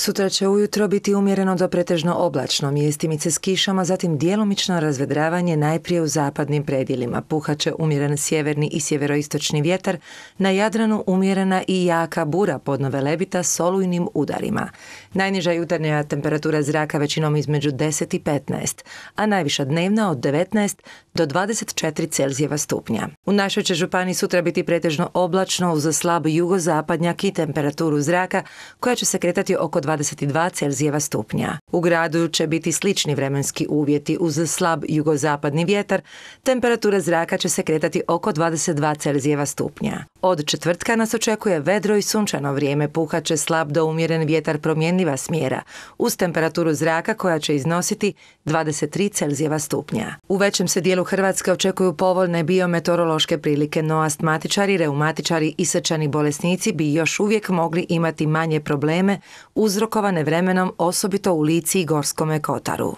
Sutra će ujutro biti umjereno do pretežno oblačno, mjestimice s kišama, zatim djelomično razvedravanje najprije u zapadnim predjelima. Puhat će umjeren sjeverni i sjeveroistočni vjetar, na Jadranu umjerena i jaka bura podno Velebita s olujnim udarima. Najniža jutarnja temperatura zraka većinom između 10 i 15, a najviša dnevna od 19 do 24 Celzijeva stupnja. U našoj će županiji sutra biti pretežno oblačno uz slab jugozapadnjak i temperaturu zraka koja će se kretati oko 22 Celzijeva stupnja. U gradu će biti slični vremenski uvjeti uz slab jugozapadni vjetar, temperatura zraka će se kretati oko 22 Celzijeva stupnja. Od četvrtka nas očekuje vedro i sunčano vrijeme, puhat će slab do umjeren vjetar promjenljiva smjera, uz temperaturu zraka koja će iznositi 23 Celzijeva stupnja. U većem se dijelu Hrvatske očekuju povoljne biometeorološke prilike, no astmatičari, reumatičari i srčani bolesnici bi još uvijek mogli imati manje probleme uzrokovane vremenom, osobito u Lici i Gorskome kotaru.